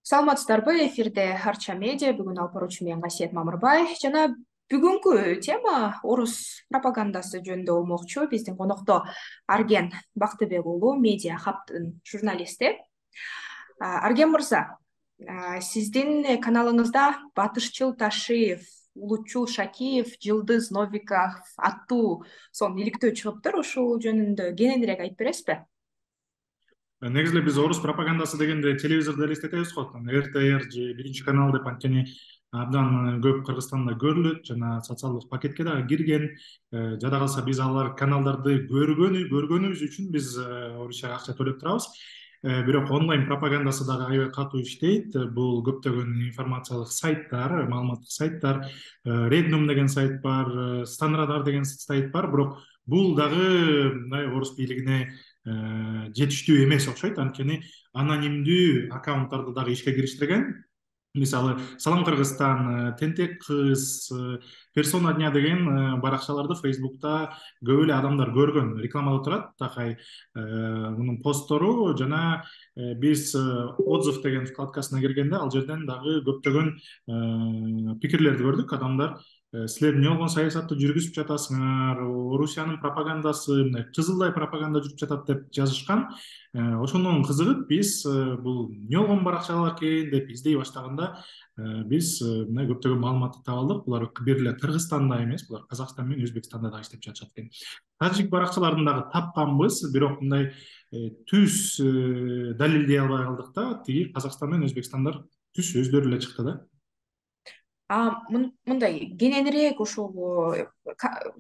Саламатсыздарбы? Эфирде Арча медиа. Бүгүн алып баруучу мен Касиет Мамырбай. Жана бүгүнкү тема орус пропагандасы жөнүндө болмокчу. Биздин конокто Арген Бактыбек уулу, Медиа Хабтын журналисти. Арген мырза, сиздин каналыңызда Батышчыл Ташиев, Улутчул Шакиев, Жылдыз Новиков аттуу сонун иликтөө чыгыптыр. Ушул жөнүндө кененирээк айтып бересизби? Негизи эле биз орус пропагандасы дегенде телевизордо элестетебиз го. РТР же Биринчи канал деп анткени абдан көп Кыргызстанда көрүлөт жана социалдык пакетке дагы кирген. Жада калса биз алар каналдарды көргөнүбүз үчүн биз орусияга акча төлөп турабыз. Бирок онлайн пропагандасы дагы аябай катуу иштейт. Бул көптөгөн информациялык сайттар, маалыматтык сайттар, Регнум деген сайт бар, Станрадар деген сайт бар. Бирок бул дагы мындай орус бийлигине жетиштүү эмес окшойт, анткени анонимдүү аккаунттарды дагы ишке кириштирген. Мисалы, Салам Кыргызстан, Тентек кыз, Персона дня деген баракчаларды Фейсбукта көп эле адамдар көргөн, рекламада турат такай мунун посттору. Жана биз отзыв деген вкладкасына киргенде ал жерден дагы көптөгөн пикирлерди көрдүк. Адамдар силер эмне болгон саясатты жүргүзүп жатасыңар, Орусиянын пропагандасы мындай кызылдай пропаганда жүрүп жатат деп жазышкан. Ошондон кызыгып биз бул эмне болгон баракчалар экен деп издей баштаганда биз мындай көптөгөн маалыматты таба алдык. Булар бир эле Кыргызстанда эмес, булар Казакстан менен Өзбекстанда дагы иштеп жатышат экен. Тажик баракчаларын дагы тапканбыз, бирок мындай түз далилдей албай калдык да. Тиги Казакстан менен Өзбекстандар түз өздөрү эле чыкты да. Мындай кененирээк ушул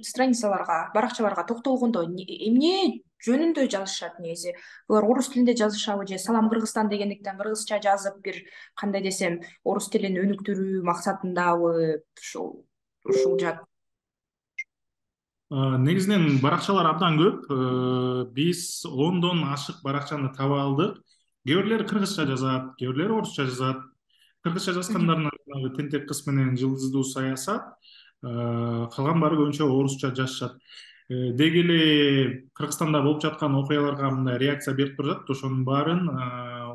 страницаларга, баракчаларга токтолгондо эмне жөнүндө жазышат негизи? Булар орус тилинде жазышабы же Салам Кыргызстан дегендиктен кыргызча жазып, бир кандай десем, орус тилин өнүктүрүү максатындабы ушул жат? Негизинен баракчалар абдан көп. Биз ондон ашык баракчаны таба алдык. Кээ бирлери кыргызча жазат, кээ бирлери орусча жазат. Кыргызча жазгандарына Тентек кыз менен Жылдыздуу саясат, калган баары көбүнчө орусча жазышат. Деги эле Кыргызстанда болуп жаткан окуяларга мындай реакция берип турушат. Ошонун баарын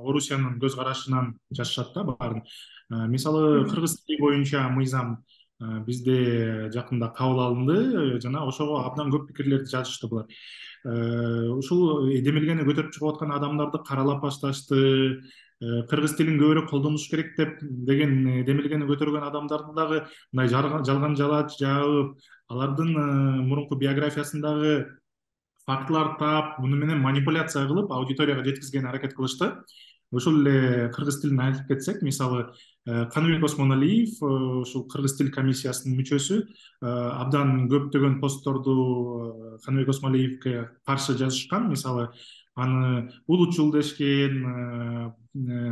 Орусиянын көз карашынан жазышат да баарын. Мисалы, кыргыз тили боюнча мыйзам бизде жакында кабыл алынды жана ошого абдан көп пикирлерди жазышты булар. Ушул демилгени көтөрүп чыгып аткан адамдарды каралап башташты. Кыргыз тилин көбүрөөк колдонуш керек деген демилгени көтөргөн адамдарды дагы мындай жалган жалач жаап, алардын мурунку биографиясындагы фактыларды таап, муну менен манипуляция кылып аудиторияга жеткизгенге аракет кылышты. Ошол эле кыргыз тилин айтып кетсек, мисалы, Каныбек Осмоналиев, ушул кыргыз тил комиссиясынын мүчөсү, абдан көптөгөн постторду Каныбек Осмоналиевке каршы жазышкан. Мисалы, аны улутчул дешкен,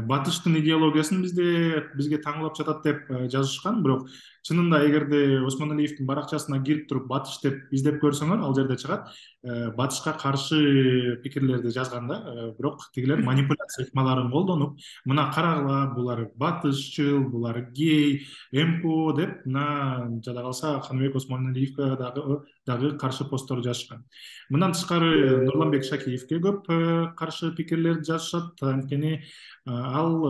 батыштын идеологиясын бизге таңлап жатат деп жазышкан. Бирок чынында эгерде Осмоналиевдин баракчасына кирип туруп батыш деп издеп көрсөңөр, ал жерде чыгат батышка каршы пикирлерди жазган да. Бирок тигилер манипуляция ыкмаларын колдонуп, мына карагыла, булар батышчыл, булар гей, МПО деп мына жада калса Каныбек Осмоналиевке дагы каршы посттор жазышкан. Мындан тышкары Нурланбек Шакиевке көп каршы пикирлерди жазышат, анткени ал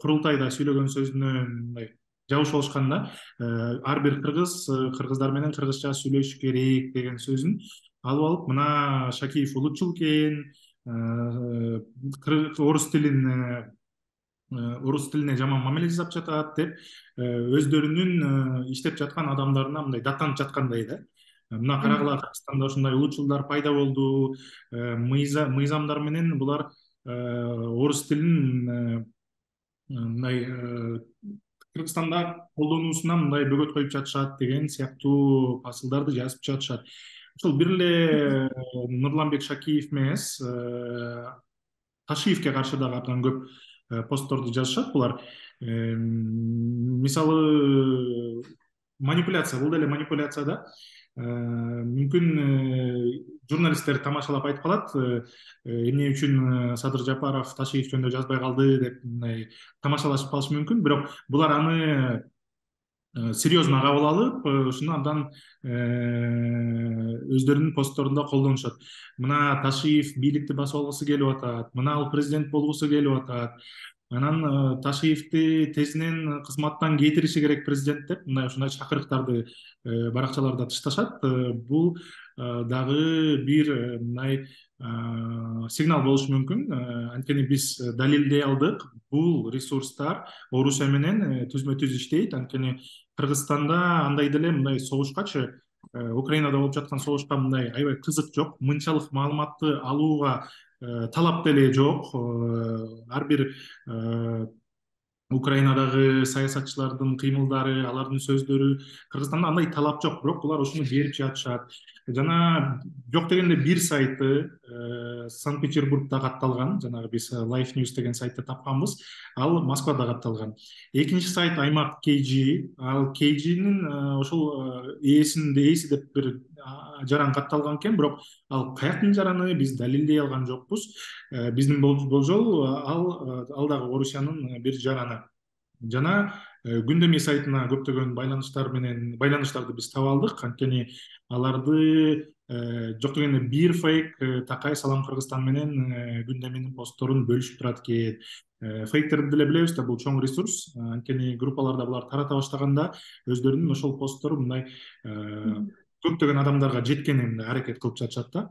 курултайда сүйлөгөн сөзүнө мындай жабыш болушкан да. Ар бир кыргыздар менен кыргызча сүйлөшүш керек деген сөзүн алып алып, мына Шакиев улутчул экен, орус тилине жаман мамиле жасап жатат деп өздөрүнүн иштеп жаткан адамдарына мындай даттанып жаткандай да. Мына карагыла, Кыргызстанда ушундай улутчулдар пайда болду, мыйзамдар менен булар орус тилин мындай Кыргызстанда колдонуусуна мындай бөгөт коюп жатышат деген сыяктуу фасылдарды жазып жатышат. Ошол бир эле Нурланбек Шакиев эмес, Ташиевке каршы дагы абдан көп постторду жазышат булар. Мисалы, манипуляция, бул деле манипуляция да. Мүмкүн журналисттер тамашалап айтып калат, эмне үчүн Садыр Жапаров Ташиев жөнүндө жазбай калды деп мындай тамашалашып калышы мүмкүн. Бирок булар аны серьезно кабыл алып, ушуну абдан өздөрүнүн постторунда колдонушат. Мына Ташиев бийликти басып алгысы келип атат, мына ал президент болгусу келип атат, анан Ташиевди тезинен кызматтан кетириши керек президент деп мындай ушундай чакырыктарды баракчаларда тышташат. Бул дагы бир мындай сигнал болушу мүмкүн. Анткени биз далилдей алдык, бул ресурстар Орусия менен түзмө түз иштейт. Анткени Кыргызстанда андай деле мындай согушкачы, Украинада болуп жаткан согушка мындай аябай кызык жок, мынчалык маалыматты алууга талап деле жок. Ар бир Украинадагы саясатчылардын кыймылдары, алардын сөздөрү, Кыргызстанда андай талап жок, бирок булар ошону берип жатышат. Жана жок дегенде бир сайты Санкт-Петербургда катталган, жанагы биз Life News деген сайтты тапканбыз, ал Москвада катталган. Экинчи сайт Аймак KG, ал KG'нин ошол ээси деп бир жаран катталган экен, бирок ал каяктын жараны биз далилдей алган жокпуз. Биздин болжол ал дагы Орусиянын бир жараны. Жана Күндөмий сайтына көптөгөн байланыштарды биз таба алдык. Анткени аларды жок дегенде бир фейк Такай Салам Кыргызстан менен Күндөмийнин постторун бөлүшүп турат экен. Фейктерди деле билебиз да, бул чоң ресурс. Анткени группаларда булар тарата баштаганда өздөрүнүн ошол посттору мындай көптөгөн адамдарга жеткенин аракет кылып жатышат да.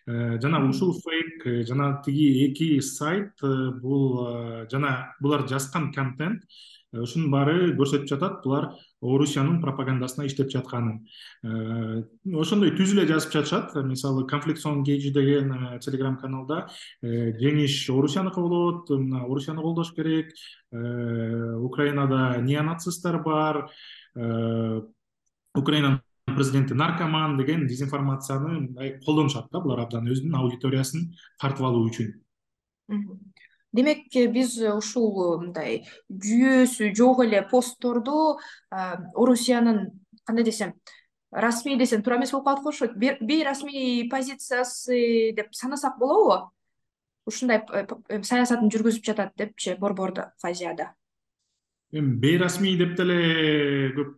Жана ушул фейк жана тиги эки сайт бул жана булар жазган контент ушунун баары көрсөтүп жатат булар Орусиянын пропагандасына иштеп жатканын. Ошондой түз эле жазып жатышат. Мисалы Conflict Zone KG деген телеграм каналда жеңиш Орусияныкы болот, Орусияны колдош керек, Украинада неонацисттер бар, Украинанын президенти наркоман деген дезинформацияны колдонушат да, булар абдан өзүнүн аудиториясын тартып алуу үчүн. Демек, биз ушул мындай жүйөсү жок эле постторду Орусиянын, кандай десем, расмий десем туура эмес болуп калат го, ошо бейрасмий позициясы деп санасак болобу? Ушундай саясатын жүргүзүп жатат депчи борбордо фазияда. Эми бейрасмий деп деле көп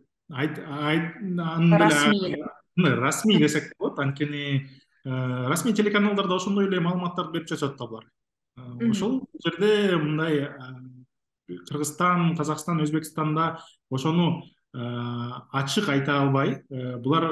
расмий десек болот. Анткени расмий телеканалдарда ошондой эле маалыматтарды берип жатышат да булар. Ошол жерде мындай Кыргызстан, Казакстан, Өзбекстанда ошону ачык айта албай, булар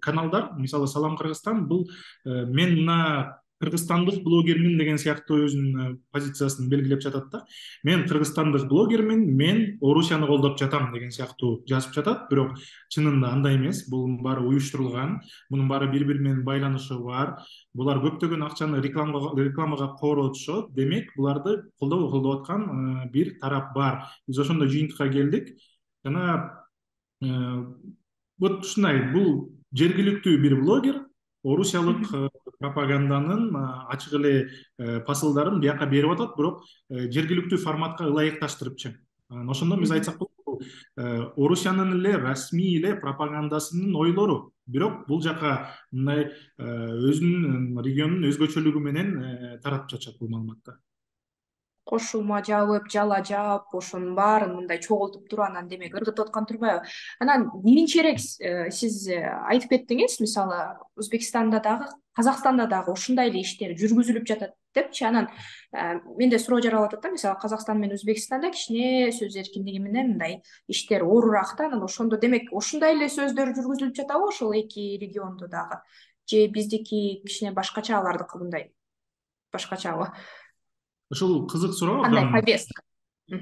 каналдар, мисалы Салам Кыргызстан, бул мен мына кыргызстандык блогермин деген сыяктуу өзүнүн позициясын белгилеп жатат да. Мен кыргызстандык блогермин, мен Орусияны колдоп жатам деген сыяктуу жазып жатат, бирок чынында андай эмес. Бул баары уюштурулган, мунун баары бири-бири менен байланышы бар. Булар көптөгөн акчаны рекламага коротушот. Демек, буларды колдоп аткан бир тарап бар. Биз ошондой жыйынтыкка келдик. Жана вот ушундай, бул жергиликтүү бир блогер орусиялык пропаганданын ачык эле посылдарын бияка берип атат, бирок жергиликтүү форматка ылайыкташтырыпчы. Ошондо биз айтсак болот, Орусиянын эле расмий эле пропагандасынын ойлору, бирок бул жака мындай өзүнүн регионунун өзгөчөлүгү менен таратып жатышат бул маалыматты. Кошулма жабып, жала жаап, ошонун баарын мындай чогултуп туруп анан демек ыргытып аткан турбайбы? Анан кийинчерээк сиз айтып кеттиңиз, мисалы Өзбекстанда дагы, Казакстанда дагы ушундай эле иштер жүргүзүлүп жатат депчи. Анан менде суроо жаралып атат да, мисалы Казакстан менен Өзбекстанда кичине сөз эркиндиги менен мындай иштер оорураак да. Анан ошондо демек ушундай эле сөздөр жүргүзүлүп жатабы ошол эки региондо дагы? Же биздики кичине башкача, алардыкы мындай башкачабы? Ушул кызык суроо. Кандай повестка?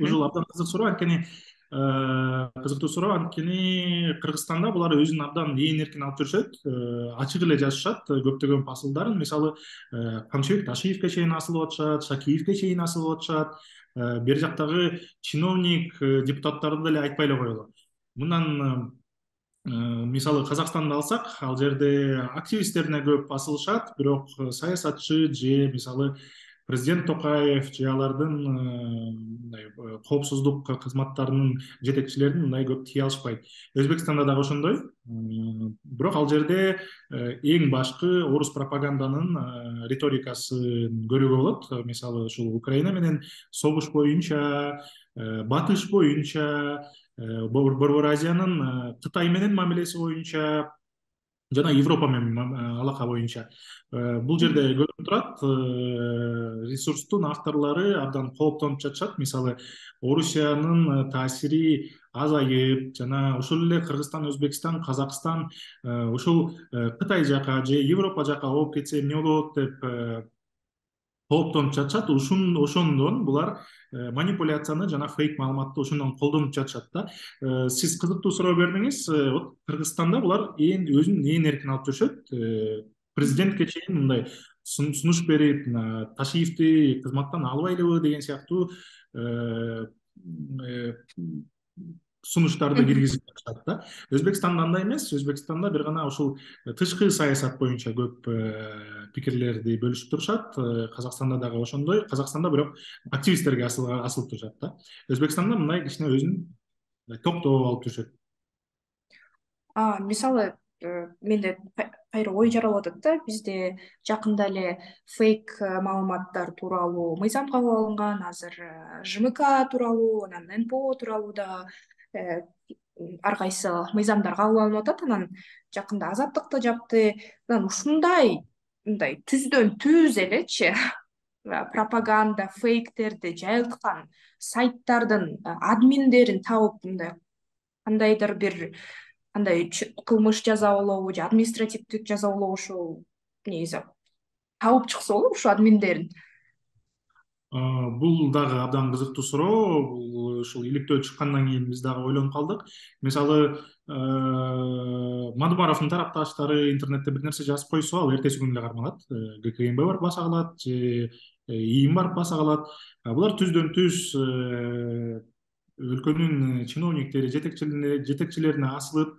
Ушул абдан кызык суроо, анткени кызыктуу суроо, анткени Кыргызстанда булар өзүн абдан ээн эркин алып жүрүшөт, ачык эле жазышат көптөгөн посылдарын. Мисалы Камчыбек Ташиевке чейин асылып атышат, Шакиевке чейин асылып атышат. Бери жактагы чиновник депутаттарды деле айтпай эле коелу. Мындан мисалы Казакстанды алсак, ал жерде активисттерине көп асылышат, бирок саясатчы же мисалы президент Токаев же алардын коопсуздук кызматтарынын жетекчилерин мындай көп тие алышпайт. Өзбекстанда дагы ошондой. Бирок ал жерде эң башкы орус пропаганданын риторикасын көрүүгө болот. Мисалы ушул Украина менен согуш боюнча, батыш боюнча, Борбор Азиянын Кытай менен мамилеси боюнча, жана Европа менен алака боюнча. Бул жерде көрүнүп турат, ресурстун авторлору абдан кооптонуп жатышат. Мисалы, Орусиянын таасири азайып, жана ошол эле Кыргызстан, Өзбекстан, Казакстан ушул Кытай жака же Европа жака ооп кетсе эмне болот деп кооптонуп жатышат. Ошондон булар манипуляцияны жана фейк маалыматты ошондон колдонуп жатышат да. Сиз кызыктуу суроо бердиңиз. Вот Кыргызстанда булар өзүнүн ээн эркин алып жүрүшөт. Президентке чейин мындай сунуш берип, Ташиевди кызматтан албайлыбы деген сыяктуу сунуштарды киргизип жатышат да. Өзбекстанда андай эмес. Өзбекстанда бир гана ушул тышкы саясат боюнча көп пикирлерди бөлүшүп турушат. Казакстанда дагы ошондой. Казакстанда бирок активисттерге асылып турушат да. Өзбекстанда мындай кичине өзүн токтоп алып жүрүшөт. Мисалы, менде кайра ой жаралып атат да, бизде жакында эле фейк маалыматтар тууралуу мыйзам кабыл алынган, азыр ЖМК тууралуу, анан НПО тууралуу да ар кайсы мыйзамдар кабыл алынып атат. Анан жакында Азаттык да жапты. Анан ушундай мындай түздөн түз элечи пропаганда, фейктерди жайылткан сайттардын админдерин табып, мындай кандайдыр бир андай кылмыш жазалообу же административдик жазалоо ушул негизи табып чыкса болот ушу админдерин. Бул дагы абдан кызыктуу суроо. Бул ушул иликтөө чыккандан кийин биз дагы ойлонуп калдык. Мисалы, Мадумаровдун тарапташтары интернетте бир нерсе жазып койсо, ал эртеси күнү эле кармалат. ГКМБ барып баса калат же ИИМ барып баса калат. Булар түздөн түз өлкөнүн чиновниктери, жетекчилерине асылып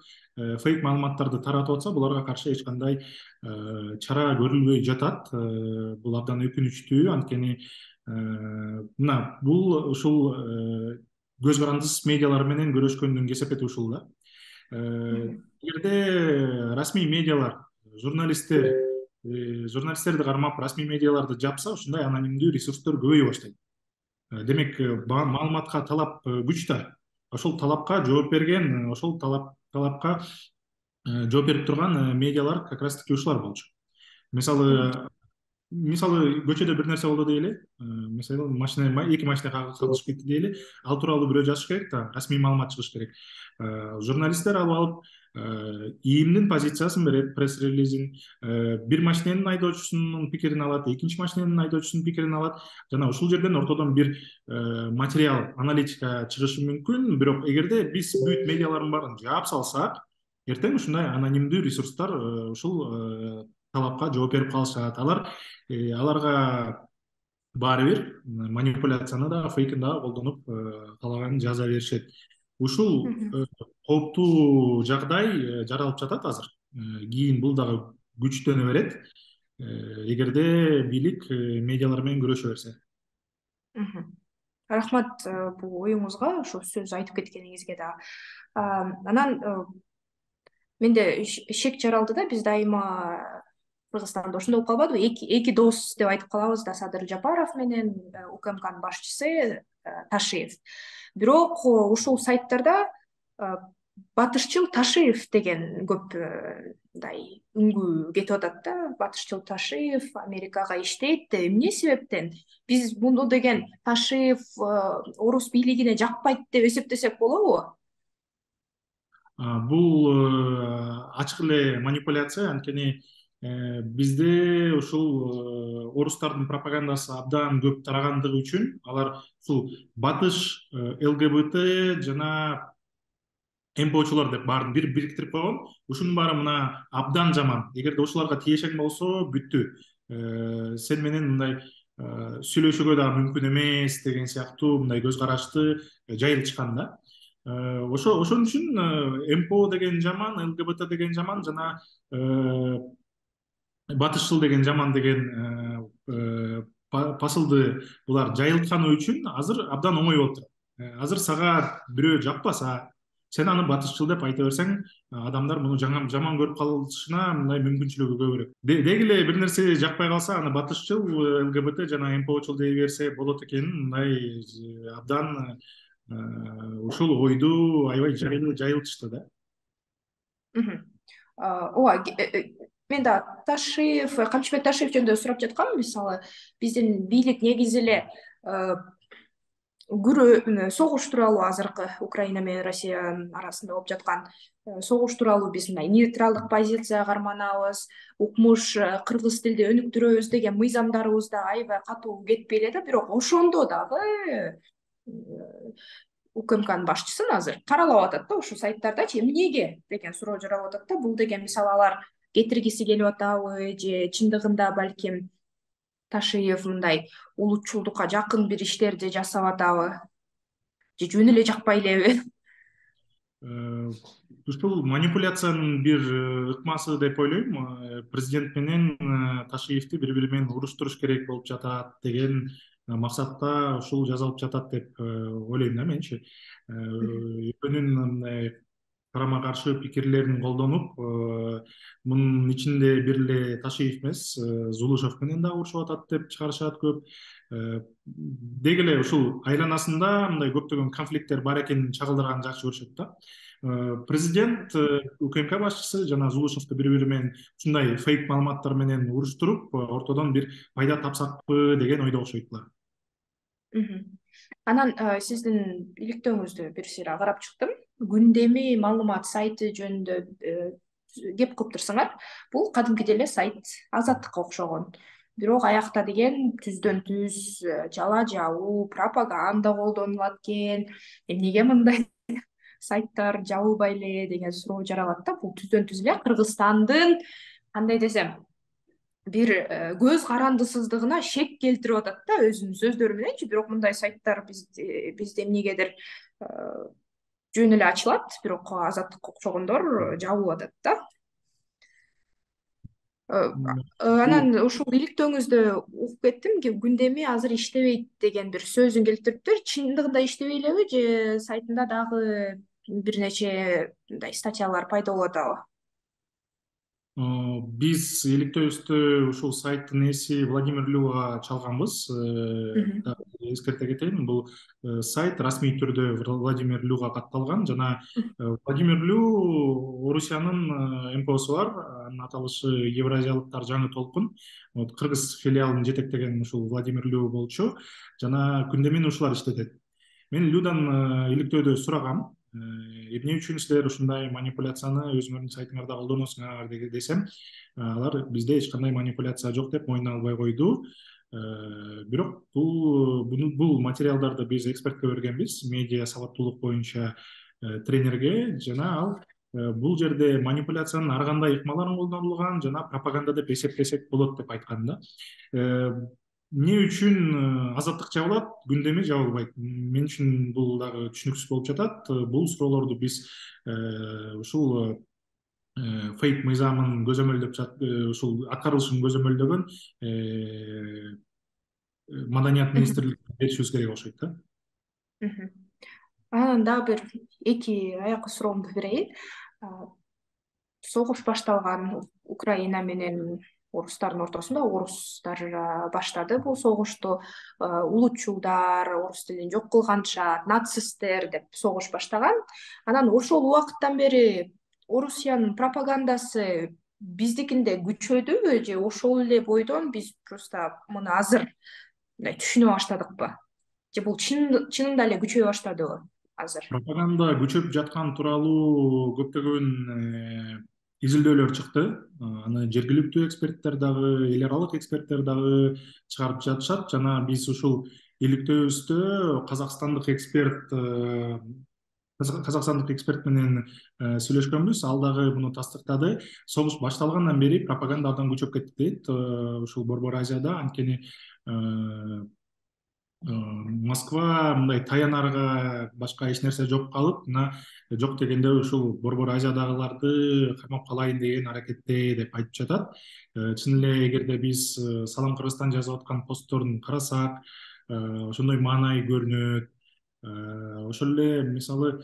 фейк маалыматтарды таратып атса, буларга каршы эч кандай чара көрүлбөй жатат. Бул абдан өкүнүчтүү. Анткени мына бул ушул көз карандысыз медиалар менен көрөшкөндүн кесепети ушул да. Эгерде расмий медиалар, журналисттерди кармап расмий медиаларды жапса, ушундай анонимдүү ресурстор көбөйө баштайт. Демек, маалыматка талап күч да. Ошол талапка жооп берген, ошол талапка жооп берип турган медиалар как раз таки ушулар болчу. Мисалы көчөдө бир нерсе болду дейли. Мисалы эки машина кагылышып кетти дейли. Ал тууралуу бирөө жазыш керек да, расмий маалымат чыгыш керек. Журналисттер алып ИИМдин позициясын берет, пресс-релизин, бир машиненин айдоочусунун пикирин алат, экинчи машиненин айдоочусунун пикирин алат, жана ушул жерден ортодон бир материал, аналитика чыгышы мүмкүн. Бирок эгерде биз бүт медиалардын баарын жаап салсак, эртең ушундай анонимдүү ресурстар ушул талапка жооп берип калышат. Аларга баары бир манипуляцияны да, фейкин да колдонуп каалаганын жаза беришет. Ушул кооптуу жагдай жаралып жатат азыр. Кийин бул дагы күчтөнө берет, эгерде бийлик медиалар менен күрөшө берсе. Рахмат бул оюңузга, ошол сөз айтып кеткениңизге да. Анан менде шек жаралды да, биз дайыма Кыргызстанда ошондой болуп калбадыбы? Эки дос деп айтып калабыз да, Садыр Жапаров менен УКМКнын башчысы Ташиев. Бирок ушул сайттарда батышчыл Ташиев деген көп мындай үңгү кетип атат да. Батышчыл Ташиев Америкага иштейт. Эмне себептен биз муну деген Ташиев орус бийлигине жакпайт деп эсептесек болобу? Бул ачык эле манипуляция. Анткени бизде ушул орустардын пропагандасы абдан көп тарагандыгы үчүн алар ушул батыш, ЛГБТ жана МПОчулар деп баарын бириктирип койгон. Ушунун баары мына абдан жаман. Эгерде ушуларга тиешең болсо бүттү. Сен менен мындай сүйлөшүүгө дагы мүмкүн эмес деген сыяктуу мындай көз карашты жайылтышкан да. Ошон үчүн МПО деген жаман, ЛГБТ деген жаман жана батышчыл деген жаман деген посылды булар жайылтканы үчүн азыр абдан оңой болуп турат. Азыр сага бирөө жакпаса, сен аны батышчыл деп айта берсең, адамдар муну жаман көрүп калышына мындай мүмкүнчүлүгү көбүрөөк. Деги эле бир нерсе жакпай калса, аны батышчыл, ЛГБТ жана МПОчул дей берсе болот экенин мындай абдан ушул ойду аябай жайылтышты да. ооба, мен да Ташиев, Камчыбек Ташиев жөнүндө сурап жаткам. Мисалы, биздин бийлик негизи эле согуш тууралуу, азыркы Украина менен Россиянын арасында болуп жаткан согуш тууралуу биз мындай нейтралдык позиция карманабыз, укмуш кыргыз тилде өнүктүрөбүз деген мыйзамдарыбыз да аябай катуу кетпей эле да. Бирок ошондо дагы УКМКнын башчысын азыр каралап атат да ушул сайттардачы. Эмнеге деген суроо жаралып атат да. Бул деген мисалы алар кетиргиси келип атабы, же чындыгында балким Ташиев мындай улутчулдукка жакын бир иштерди жасап атабы, же жөн эле жакпай элеби? Ушул манипуляциянын бир ыкмасы деп ойлойм. Президент менен Ташиевди бири бири менен уруштуруш керек болуп жатат деген максатта ушул жазылып жатат деп ойлойм да менчи. Экөөнүн мындай карама каршы пикирлерин колдонуп, мунун ичинде бир эле Ташиев эмес, Зулушев менен дагы урушуп атат деп чыгарышат көп. Деги эле ушул айланасында мындай көптөгөн конфликттер бар экенин чагылдырганды жакшы көрүшөт да. Президент, УКМК башчысы жана Зулушевду бири бири менен ушундай фейк маалыматтар менен уруштуруп, ортодон бир пайда тапсакпы деген ойдо окшойт булар. Анан сиздин иликтөөңүздү бир сыйра карап чыктым. Күндөмү маалымат сайты жөнүндө кеп кылыптырсыңар. Бул кадимкидей эле сайт Азаттыкка окшогон. Бирок аякта деген түздөн түз жала жабуу, пропаганда колдонулат экен. Эмнеге мындай сайттар жабылбай эле деген суроо жаралат да. Бул түздөн түз эле Кыргызстандын, кандай десем, бир көз карандысыздыгына шек келтирип атат да, өзүнүн сөздөрү мененчи. Бирок мындай сайттар бизде эмнегедир жөн эле ачылат, бирок Азаттыкка окшогондор жабылып атат да. Анан ушул иликтөөңүздө угуп кеттим, күндөмү азыр иштебейт деген бир сөзүн келтириптир. Чындыгында иштебей элеби, же сайтында дагы бир нече мындай статьялар пайда болуп атабы? Биз иликтөөбүздө ушул сайттын ээси Владимир Люга чалганбыз. Эскерте кетейин, бул сайт расмий түрдө Владимир Люга катталган жана Владимир Лю Орусиянын МПОсу бар, анын аталышы Евразиялыктар жаңы толкун. Кыргыз филиалын жетектеген ушул Владимир Лю болчу жана күндөмүн ушулар иштетет. Мен Людан иликтөөдө сурагам, эмне үчүн силер ушундай манипуляцияны өзүңөрдүн сайтыңарда колдоносуңар десем, алар бизде эч кандай манипуляция жок деп мойнуна албай койду. Бирок бул материалдарды биз экспертке бергенбиз, медиа сабаттуулук боюнча тренерге, жана ал бул жерде манипуляциянын ар кандай ыкмаларын колдонулган жана пропаганда деп эсептесек болот деп айткан да. Эмне үчүн Азаттык жабылат, күндөмү жабылбайт? Мен үчүн бул дагы түшүнүксүз болуп жатат. Бул суроолорду биз ушул фейк мыйзамын көзөмөлдөп ушул аткарылышын көзөмөлдөгөн Маданият министрлигине беришибиз керек окшойт да. Анан дагы бир эки аякы суроомду берейин. Согуш башталган Украина менен орустардын ортосунда, орустар баштады бул согушту. Улутчулдар, орус тилин жок кылганча, нацисттер деп согуш баштаган. Анан ошол убакыттан бери Орусиянын пропагандасы биздикинде күчөдүбү, же ошол эле бойдон биз просто муну азыр түшүнө баштадыкпы? Же бул чынында эле күчөй баштадыбы азыр? Пропаганда күчөп жаткан тууралуу көптөгөн изилдөөлөр чыкты. Аны жергиликтүү эксперттер дагы, эл аралык эксперттер дагы чыгарып жатышат. Жана биз ушул иликтөөбүздө казакстандык эксперт менен сүйлөшкөнбүз. Ал дагы муну тастыктады. Согуш башталгандан бери пропаганда абдан күчөп кетти дейт ушул Борбор Азияда. Анткени Москва мындай таянарга башка эч нерсе жок калып, мына жок дегенде ушул Борбор Азиядагыларды камап калайын деген аракетте деп айтып жатат. Чын эле эгерде биз Салам Кыргызстан жазып аткан постторун карасак, ошондой маанай көрүнөт. Ошол эле мисалы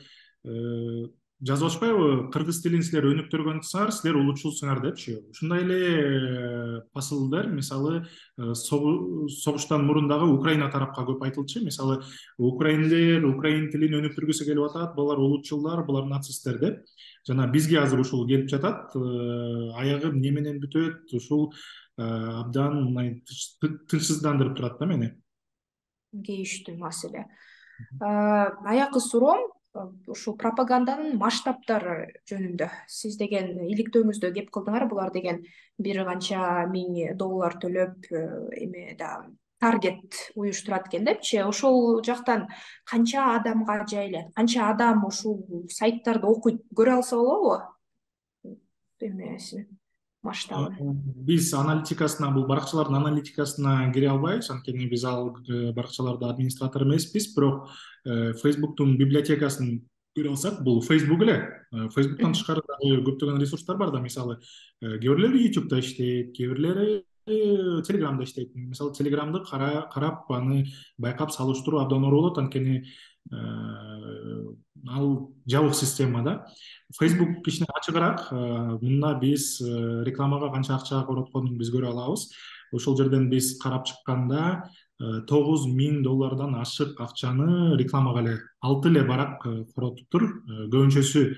жазып атышпайбы, кыргыз тилин силер өнүктүргөнсүңөр, силер улутчулсуңар депчи. Ушундай эле посылдар мисалы согуштан мурун дагы Украина тарапка көп айтылчу. Мисалы украиндер украин тилин өнүктүргүсү келип атат, булар улутчулдар, булар нацисттер деп. Жана бизге азыр ушул келип жатат. Аягы эмне менен бүтөт, ушул абдан тынчсыздандырып турат да мени. Кейиштүү маселе. Аякы суроом ушул пропаганданын масштабтары жөнүндө. Сиз деген иликтөөңүздө кеп кылдыңар, булар деген бир канча $1000 төлөп эме да таргет уюштурат экен депчи. Ошол жактан канча адамга жайылат, канча адам ушул сайттарды окуйт, көрө алса болобу? Эмесин масштабын. Биз аналитикасына, бул баракчалардын аналитикасына кире албайбыз, анткени биз ал баракчаларда администратор эмеспиз, бирок Facebook'тун библиотекасын көрө алсак, бул Facebook эле. Facebook'тан тышкары дагы көптөгөн ресурстар бар да, мисалы кээ бирлери YouTube'да иштейт, кээ бирлери Telegram'да иштейт. Мисалы Telegram'ды карап аны байкап салыштыруу абдан оор болот, анткени ал жабык система да. Facebook кичине ачыгыраак. Мында биз рекламага канча акча коротконун биз көрө алабыз. Ошол жерден биз карап чыкканда $9000 ашык акчаны рекламага эле 6 эле барак коротуптур. Көбүнчөсү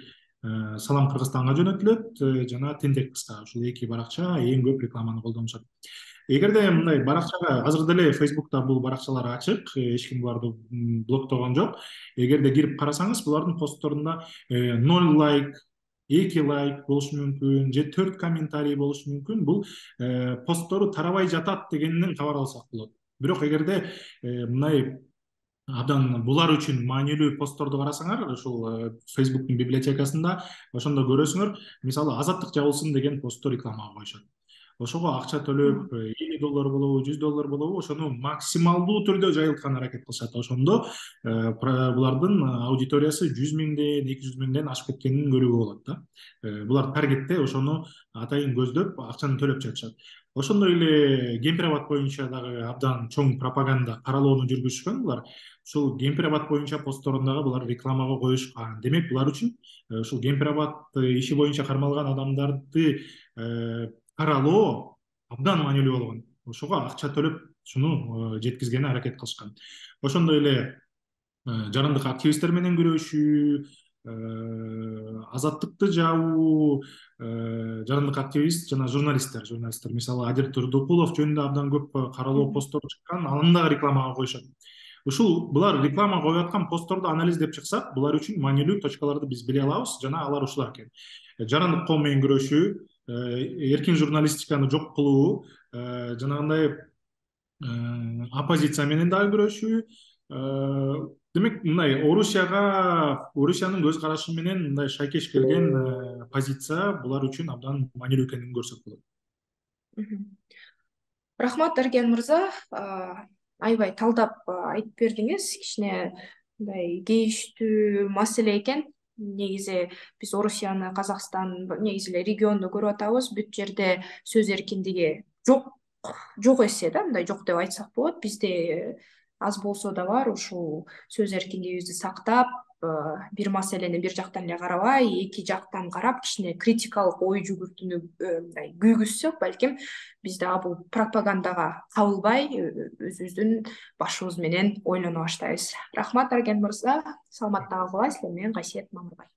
Салам Кыргызстанга жөнөтүлөт жана Тентек кыска. Ушул эки баракча эң көп рекламаны колдонушат. Эгерде мындай баракчага азыр деле Facebook'та бул баракчалар ачык, эч ким буларды блоктогон жок. Эгерде кирип карасаңыз, булардын постторунда 0 лайк, 2 лайк болушу мүмкүн, же 4 комментарий болушу мүмкүн. Бул посттору тарабай жатат дегенден кабар алсак болот. Бирок эгерде мындай абдан булар үчүн маанилүү постторду карасаңар, ушул Facebook'тун библиотекасында ошондо көрөсүңөр, мисалы Азаттык жабылсын деген постту рекламага коюшат. Ошого акча төлөп $50 болобу, $100 болобу, ошону максималдуу түрдө жайылткан аракет кылышат. Ошондо булардын аудиториясы 100 000ден, 200 000ден ашып кеткенин көрүүгө болот да. Булар таргетте ошону атайын көздөп акчаны төлөп жатышат. Ошондой эле Кемпир-Абад боюнча дагы абдан чоң пропаганда каралоону жүргүзүшкөн булар. Ушул Кемпир-Абад боюнча постторундагы булар рекламага коюшкан. Демек булар үчүн ушул Кемпир-Абад иши боюнча кармалган адамдарды каралоо абдан маанилүү болгон. Ошого акча төлөп шуну жеткизгени аракет кылышкан. Ошондой эле жарандык активисттер менен күрөшүү, азаттыкты жабуу, жарандык активист жана журналисттер, мисалы Адил Турдукулов жөнүндө абдан көп каралоо посттор чыккан, аны дагы рекламага коюшат. Ушул булар реклама коюп аткан постторду анализдеп чыксак, булар үчүн маанилүү точкаларды биз биле алабыз жана алар ушулар экен. Жарандык коом менен күрөшүү, эркин журналистиканы жок кылуу, жанагындай оппозиция менен дагы күрөшүү. Демек, мындай Орусиянын көз карашы менен мындай шайкеш келген позиция булар үчүн абдан маанилүү экенин көрсөк болот. Рахмат, Эрген мырза. Аябай талдап айтып бердиңиз. Кичине мындай кейиштүү маселе экен. Негизи биз Орусияны, Казакстан, негизи эле регионду көрүп атабыз. Бүт жерде сөз эркиндиги жок эсе да, мындай жок деп айтсак болот. Бизде аз болсо да бар, ушул сөз эркиндигибизди сактап, бир маселени бир жактан эле карабай, эки жактан карап, кичине критикалык ой жүгүртүүнү мындай күйгүзсөк, балким биз дагы бул пропагандага кабылбай, өзүбүздүн башыбыз менен ойлоно баштайбыз. Рахмат, Эрген мырза. Саламатта калгыла. Силер менен Кайсет Мамырбай.